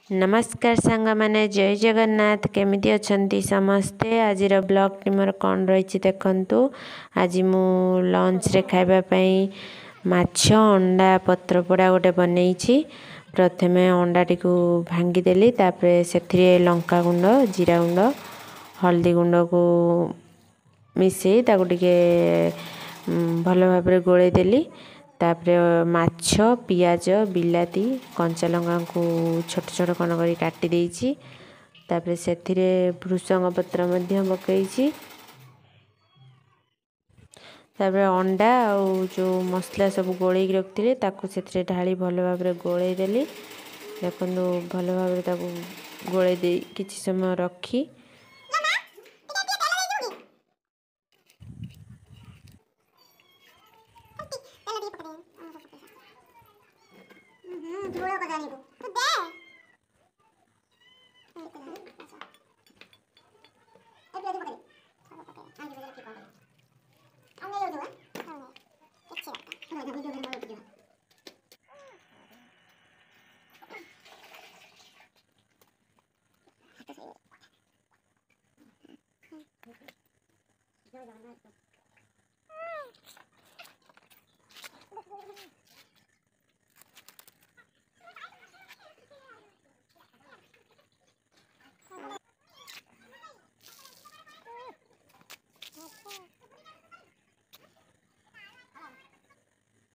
ନମସ୍କାର ସାଙ୍ଗମାନେ, ଜୟ ଜଗନ୍ନାଥ। କେମିତି ଅଛନ୍ତି ସମସ୍ତେ? ଆଜିର ବ୍ଲଗ୍ଟି ମୋର କ'ଣ ରହିଛି ଦେଖନ୍ତୁ। ଆଜି ମୁଁ ଲଞ୍ଚରେ ଖାଇବା ପାଇଁ ମାଛ ଅଣ୍ଡା ପତ୍ରପୋଡ଼ା ଗୋଟେ ବନେଇଛି। ପ୍ରଥମେ ଅଣ୍ଡାଟିକୁ ଭାଙ୍ଗିଦେଲି, ତାପରେ ସେଥିରେ ଲଙ୍କା ଗୁଣ୍ଡ, ଜିରା ଗୁଣ୍ଡ, ହଳଦୀ ଗୁଣ୍ଡକୁ ମିଶାଇ ତାକୁ ଟିକେ ଭଲ ଭାବରେ ଗୋଳେଇ ଦେଲି। ତାପରେ ମାଛ, ପିଆଜ, ବିଲାତି, କଞ୍ଚା ଲଙ୍କାକୁ ଛୋଟ ଛୋଟ ଖଣ୍ଡ କରି କାଟି ଦେଇଛି। ତାପରେ ସେଥିରେ ଭୃସଙ୍ଗ ପତ୍ର ମଧ୍ୟ ପକାଇଛି। ତାପରେ ଅଣ୍ଡା ଆଉ ଯେଉଁ ମସଲା ସବୁ ଗୋଳେଇକି ରଖିଥିଲି, ତାକୁ ସେଥିରେ ଢାଳି ଭଲ ଭାବରେ ଗୋଳେଇ ଦେଲି। ଦେଖନ୍ତୁ, ଭଲ ଭାବରେ ତାକୁ ଗୋଳେଇ ଦେଇ କିଛି ସମୟ ରଖି